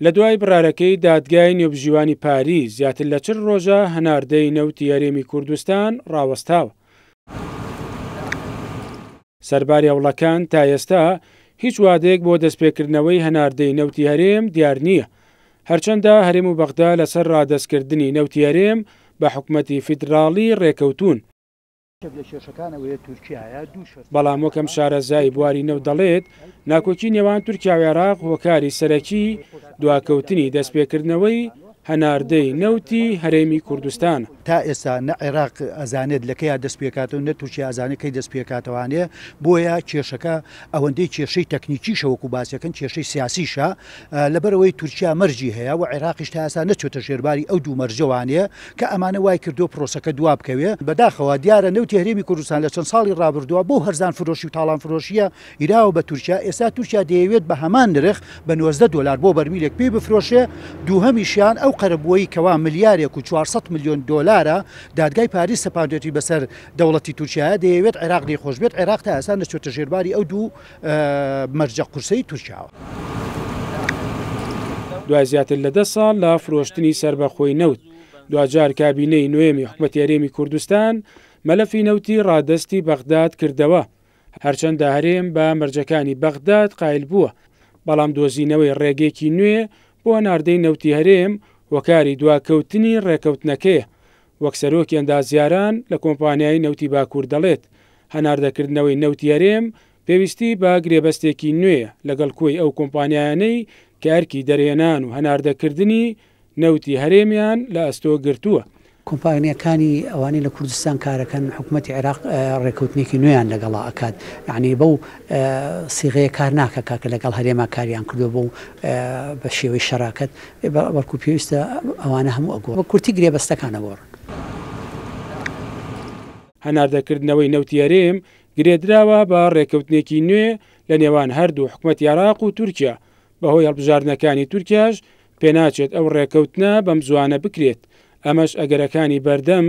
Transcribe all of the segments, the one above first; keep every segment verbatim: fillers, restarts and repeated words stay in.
لە دوای بڕارەکەی دادگای نێوبژیوانی پاریس زیاتر لە چل ڕۆژە هەناردەی نەوتی هەرێمی کوردستان ڕاوەستاوە. سەرباری هەوڵەکان تا ئێستا هیچ وادەیەک بۆ دەستپێکردنەوەی هەناردەی نەوتی هەرێم دیار نییە. هەرچەندە هەرێم و بەغدا لەسەر ڕادەستکردنی نەوتی هەرێم بە حکومەتی فیدراڵی ڕێکەوتوون. بەڵام وەکەم شارەزای بواری نەوت دەڵێت ناکۆکی نێوان تورکیا و عێراق هۆکاری سەرەکی دواکەوتنی دەستپێکردنەوەی هەناردەی نەوتی هەرێمی کوردستان. تا ئێستا نە عێراق ئەزانێت لەکەیا دەست پێکاتەوە نە تورکیا ئەزانێت کەی دەست پێکاتەوانێ، بۆیە کێشەکە ئەوەندەی کێشەی تەکنیکیشە وەکو باسیەکەن کێشەی سیاسیشە، لەبەرەوەی تورکیا مەرجی هەیە و عێراقیش تا ئێستا نەچۆتە ژێرباری ئەو دوو مەرجەوانێ کە ئەمانە وای کردو پرۆسەکە دوا بکەوێ. بەداخەوە دیارە نەوتی هەرێمی کوردستان لە چەند ساڵی ڕابردووە بۆ هەرزان فرۆشی و تاڵان فرۆشیە ئیراوە بە تورکیا، ئێستا تورکیا دەیەوێت بە هەمان نرخ بە نۆزدە دۆلار بۆ بەرمیلێک پێی بفرۆشێ. دووهەمیشیان ئەو قەرەبووەی کەوا ملیارێک و چوارسەد ملیۆن دۆلارە دادگای پاریس سەپاندێتی بەسەر دەوڵەتی تورکیاە، دەیەوێت عێراق لێی خۆش بێت. عێراق تا ئێستا نەچۆتە ژێرباری ئەو دوو مەرجە قورسەی تورکیاوە. دوای زیاتر لە دە ساڵ لە فرۆشتنی سەربەخۆی نەوت، دواجار کابینەی نوێمی حکومەتی هەرێمی کوردستان مەلەفی نەوتی ڕادەستی بەغداد کردەوە. هەرچەندە هەرێم بە مەرجەکانی بەغداد قایل بووە، بەڵام دۆزینەوەی ڕێگەیەکی نوێ بۆ هەناردەی نەوتی هەرێم هۆکاری دواکەوتنی ڕێکەوتنەکەیە. وەک سەرۆکی ئەندازیاران لە کۆمپانیای نەوتی باکوور دەڵێت، هەناردەکردنەوەی نەوتی هەرێم پێویستی بە گرێبەستێکی نوێیە لەگەڵ کۆی ئەو کۆمپانیایانەی کە ئەرکی دەرهێنان و هەناردەکردنی نەوتی هەرێمیان لە ئەستۆ گرتووە. کۆمپانیەکانی ئەوانەی لە کوردستان کارەکەن حکوومەتی عێراق ڕێکەوتنێکی نوێیان لەگەڵا ئەکات، یعنی بەو سیغەیە کار ناکە کاکە لەگەڵ هەرێما کاریان کردو بۆ بە شێوەی شەراکەت، بەڵکو پێویستە ئەوانە هەموو ئەگۆڕن، بە کورتی گرێبەستەکان ئەگۆڕن. هەناردەکردنەوەی نەوتی هەرێم گرێدراوە بە ڕێکەوتنێکی نوێ لە نێوان هەردوو حکوومەتی عێراق و تورکیا. بەهۆی هەڵبژاردنەکانی تورکیاش پێناچێت ئەو ڕێکەوتنە بەم زوانە بکرێت. ئەمەش ئەگەرەکانی بەردەم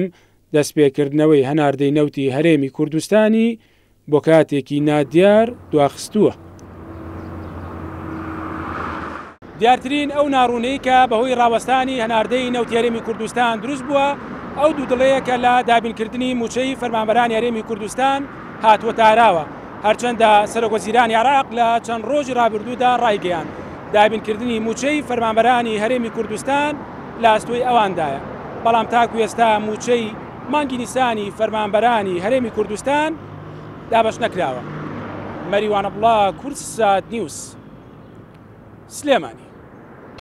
دەستپێکردنەوەی هەناردەی نەوتی هەرێمی کوردستانی بۆ کاتێکی نادیار دواخستووە. دیارترین ئەو ناڕوونەی کە بەهۆی ڕاوەستانی هەناردەی نەوتی هەرێمی کوردستان دروست بووە ئەو دوو دڵەیە کە لە دابینکردنی موچەی فەرمانبەرانی هەرێمی کوردستان هاتووە تاراوە. هەرچەندە سەرۆکوەزیرانی عێراق لە چەند ڕۆژی ڕابردوودا ڕایگەیاند دابینکردنی موچەی فەرمانبەرانی هەرێمی کوردستان لە ئەستۆی ئەواندایە، بەڵام تاکو ئێستا موچەی مانگی نیسانی فەرمانبەرانی هەرێمی کوردستان دابەش نەکراوە. مەریوان عەبدوڵا، کوردسات نیوز، سلێمانی.